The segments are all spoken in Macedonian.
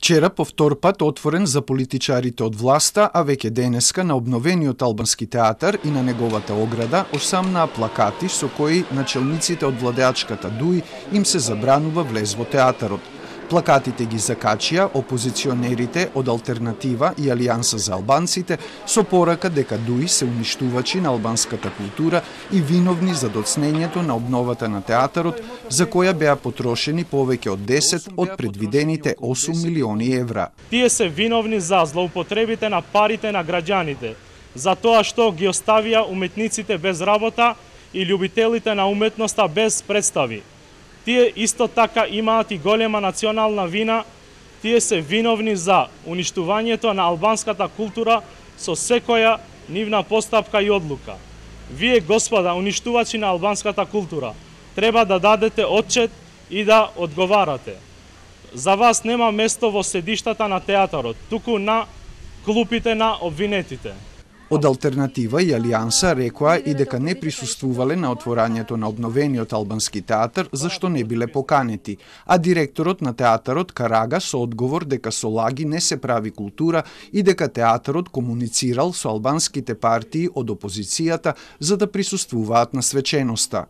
Вчера повтор пат отворен за политичарите од власта, а веќе денеска на обновениот албански театар и на неговата ограда осамнаа плакати со кои начелниците од владеачката ДУИ им се забранува влез во театарот. Плакатите ги закачија опозиционерите од Алтернатива и Алијанса за албанците со порака дека ДУИ се уништувачи на албанската култура и виновни за доцнењето на обновата на театарот, за која беа потрошени повеќе од 10 од предвидените 8 милиони евра. Тие се виновни за злоупотребите на парите на граѓаните, за тоа што ги оставија уметниците без работа и љубителите на уметноста без представи. Тие исто така имаат и голема национална вина, тие се виновни за уништувањето на албанската култура со секоја нивна постапка и одлука. Вие, господа, уништувачи на албанската култура, треба да дадете отчет и да одговарате. За вас нема место во седиштата на театарот, туку на клупите на обвинетите. Од Алтернатива и Алијанса рекоа и дека не присуствувале на отворањето на обновениот албански театар, зашто не биле поканети, а директорот на театарот Карага со одговор дека со лаги не се прави култура и дека театарот комуницирал со албанските партии од опозицијата за да присуствуваат на свеченоста.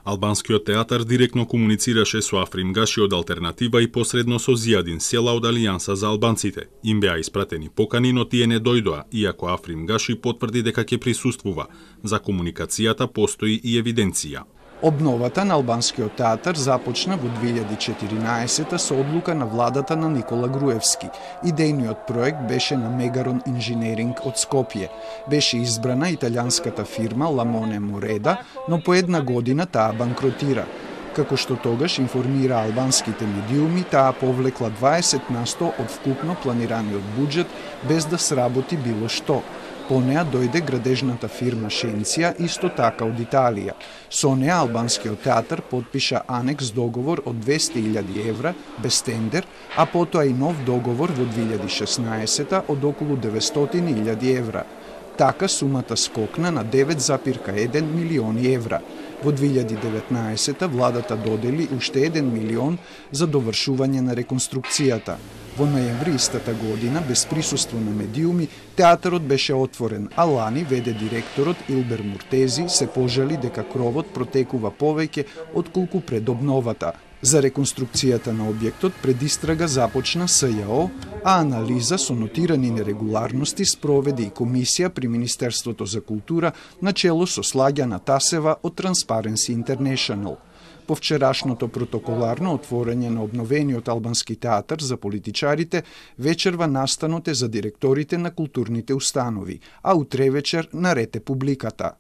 Албанскиот театар директно комуницираше со Африм Гаши од Алтернатива и посредно со Зијадин Села од Алијанса за албанците. Им беа испратени покани, но тие не дојдоа, иако Африм Гаши потврди дека ќе присуствува. За комуникацијата постои и евиденција. Обновата на албанскиот театар започна во 2014 со одлука на владата на Никола Груевски. Идејниот проект беше на Мегарон Инженеринг од Скопје. Беше избрана италијанската фирма Ламоне Мореда, но по една година таа банкротира. Како што тогаш информира албанските медиуми, таа повлекла 20% од вкупно планираниот буџет без да сработи било што. По неа дојде градежната фирма Шенција, исто така од Италија. Со неа албанскиот театар потпиша анекс договор од 200.000 евра без тендер, а потоа и нов договор во 2016 од околу 900.000 евра. Така сумата скокна на 9,1 милиони евра. Во 2019 владата додели уште 1 милион за довршување на реконструкцијата. Во ноември истата година, без присуство на медиуми, театарот беше отворен, а лани веде директорот Илбер Муртези се пожали дека кровот протекува повеќе отколку пред обновата. За реконструкцијата на објектот предистрага започна СЈО, а анализа со нотирани нерегуларности спроведе и комисија при Министерството за култура на чело со Слагјана Тасева од Transparency International. По вчерашното протоколарно отворање на обновениот албански театар за политичарите, вечерва настанот е за директорите на културните установи, а утре вечер наред е публиката.